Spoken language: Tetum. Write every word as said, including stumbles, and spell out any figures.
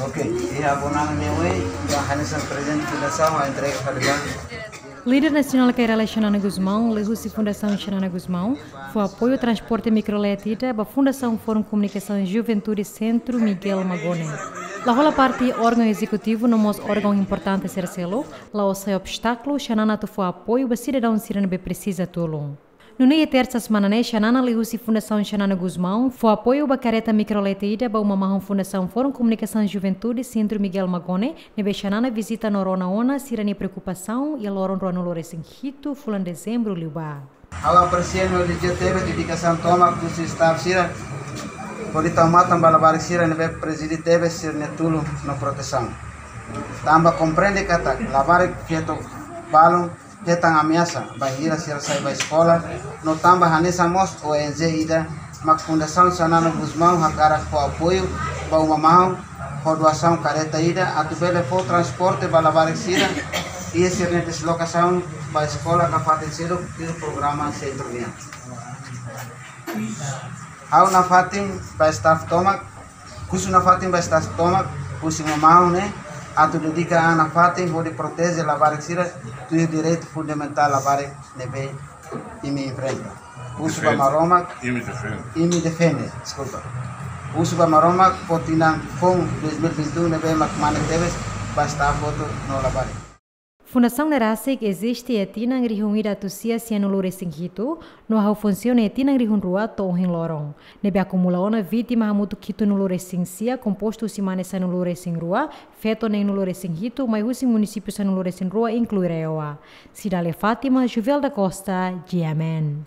Ok, iha bona ne'e, ba hanesan prezente fundasaun, a entrega fali ba. Líder nasionál Kay Rala Xanana Gusmão, liuhusi Fundasaun Xanana Gusmão, fó apoiu transporte mikrolet ida ba Fundasaun Fórum Komunikasaun Juventude Sentru Miguel Magone. La hola parte órgaun ezekutivu no mós órgaun importante sira seluk, la'ós sai obstákulu Xanana atu fó apoiu ba sidadaun sira ne'ebé presiza tulun. Nune'e tersa semana ne'e Xanana liuhusi Fundasaun Xanana Gusmão fó apoiu ba kareta mikrolet ida ba uma mahon Fundasaun Fórum Komunikasaun Juventude Sentru Miguel Magone, ne'ebé Xanana vizita no rona ona sira-nia preokupasaun iha loron ruanulu resin hitu fulan Dezembru liubá. Ha'u apresia no elojiu tebes dedikasaun tomak husi staff sira, hodi tau matan ba labarik sira ne'ebé presiza tebes sira-nia tulun no protesaun. Tanba komprende katak labarik feto balun hetan ameasa bainhira sira sai ba eskola, no tanba hanesan mós O N G ida mak Fundasaun Xanana Gusmão hakarak fó apoiu ba uma mahon ho doasaun kareta ida atu bele fó transporte ba labarik sira iha sira-nia deslokasaun ba eskola ka fatin seluk iha programa sentru nian. Ha'u nafatin ba staff tomak, husu nafatin ba staff tomak, husi uma mahon ne'e, atu dedika an nafatin hodi proteje labarik sira, tuir direitu fundamentál labarik ne'ebé imi enfrenta. Husu ba Defende. Maromak, Imi defende. Imi defende, deskulpa. Husu ba Maromak, fó tinan foun dois mil e vinte e um ne'ebé mak mane tebes ba staff hotu no labarik. Fundasaun ne'e rasik eziste iha tinan rihun ida atus sia sianulu resin hitu, no hahú funsiona iha tinan rihun rua to'o ohin loron. Ne'ebé akumula ona vítima hamutuk hitunulu resin sia, kompostu husi mane sanulu resin rua, feto neenulu resin hitu, mai husi munisípiu sanulu resin rua, inklui Reoa. Cidália Fátima, Juvel da Costa, G M N.